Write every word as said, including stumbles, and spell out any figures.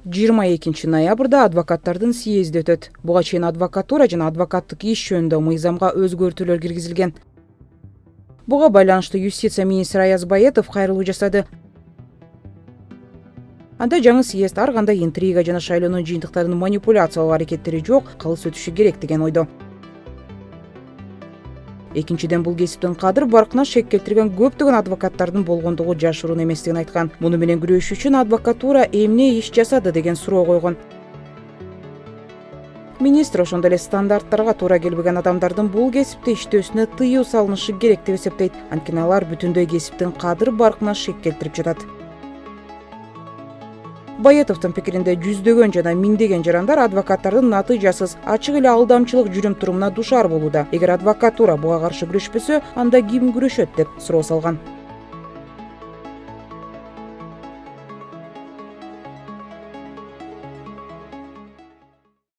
жыйырма экинчи ноябрда адвокаттардын съезди өтөт. Буга чейин адвокатура жана адвокаттык иш жөнүндө мыйзамга өзгөртүүлөр киргизилген. Буга байланыштуу юстиция министри Аяз Баетов кайрылуу жасады. Анда жаңы съезд ар кандай интрига жана шайлоонун жыйынтыктарын манипуляциялоо аракеттери жок кылыс өтүшү керек деген ойдо. Экинчиден, бул кесиптин кадыр баркына шек келтирген көптөгөн адвокаттардын болгондугу жашыруун эместигин айткан. Муну менен күрөшүү үчүн адвокатура эмне иш жасады деген суроо койгон. Министр ошондой эле стандарттарга туура келбеген адамдардын бул кесипте иштөөсүнө тыюу салынышы керек деп эсептейт. Анткени алар бүтүндөй кесиптин кадыр баркына шек келтирип жатат. Баетовдун пикиринде жүздөгөн жана миңдеген жарандар адвокаттардын натыйжасыз ачык эле алдамчылык жүрүм-турумуна душар болууда. Эгер адвокатура буга каршы күрөшпөсө, анда ким күрөшөт деп суроо салган.